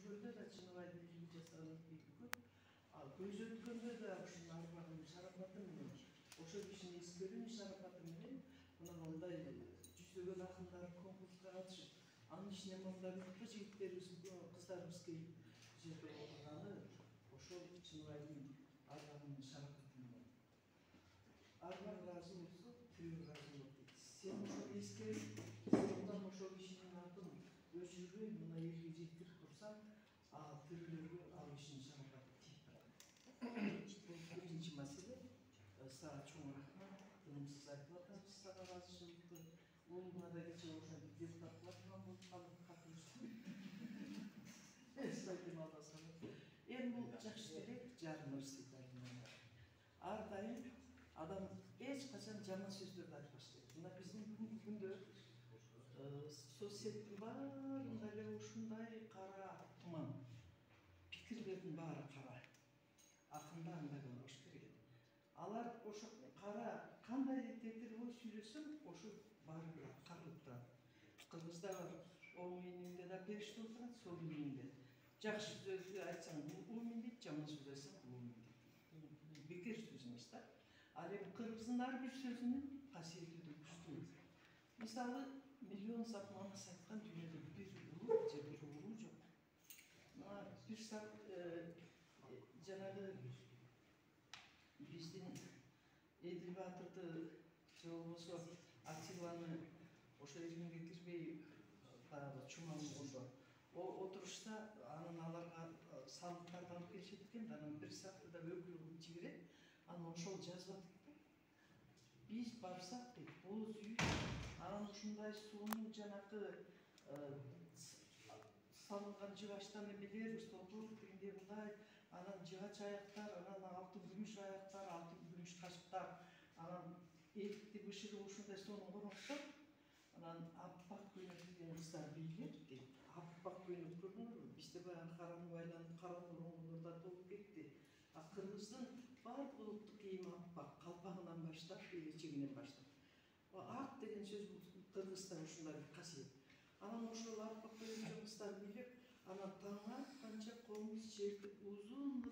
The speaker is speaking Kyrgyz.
жүргөндө да Чыныбайды элүү жасаган көп. Ал көз өткөндө да ушунун арбагынын шарапаты менен, ошол кишинин эскерүүнүн шарапаты менен мына мындай жүздөгөн акындар конкурска катышып, анын ичине мындай мыкты жигиттерибиз, кыздарыбыз келип бул жерде отурганы ошол Чыныбайдын арбагынын шарапаты менен. Арбак ыраазы болсо, тирүү ыраазы болот дейт. Сен ошону эскерип, сен ошол кишинин атын өчүрбөй мына элге жеткирип турсаң, тирүүлөргө ал кишинин шарапаты тийип турат. Бул биринчи маселе. Сага чоң рахмат. Тынымсыз айтып атабыз сага ыраазычылыкты. Уулуңа да кечээ ошентип депутат кыла турган болуп калдым, катышып. Эстайдым алдасам. Эми бул жакшы тилек, жараныбыз дейт. Ар дайым адам эч качан жаман сөздөрдү айтпаш керек. Мына биздин бүгүнкү күндө соц сеттин баарында эле ушундай кара туман. Пикирлердин баары кара. Акында андай болбош керек. Алар ошо кара кандай тетирбой сүйлөсөң, ошо баары бир аткарылып турат. Кыргызда оң мээниңде да периште отурат, сол мээниңде. Жакшы сөз айтсаң мумин дейт, жаман сөз айтсаң мумин дейт. Бекер сөз эмес да. Ал эми кыргыздын ар бир сөзүнүн касиети да күчтүү. Мисалы, миллион сап манас айткан дүйнөдө бир улут же бир ууру жок. Мына бир сап жанагы биздин Эдил Баатырды же болбосо Атиланы ошо эргиңге кирбей баягы чумаңдоодо отурушта анан аларга салыктарды алып келишет экен да, анан бир сакты да өкүл кылып жиберет. Анан ошол жазып атат да. Биз барсак дейт, боз үй, анан ушундай суунун жанакы салынган жыгачтан эмелер, столбур тигиндей мындай, анан жыгач аяктар, анан алтын күмүш аяктар, алтын күмүш кашыктар, анан этти бышырып ушундай сонун коноктор, анан аппак көйнөк кийген кыздар бийлеп дейт. Аппак көйнөк көрдүңөрбү? Бизде баягы кара нуг айланып, кара нурлар толуп кетти. Кыргыздын баардык улуттук кийими аппак, калпагынан баштап, элечегинен баштап. Ак деген сөз бул кыргызда ушундай бир касиет. Анан ошол аппак көйнөкчө кыздар бийлеп, анан таң атканча комуз жерди узун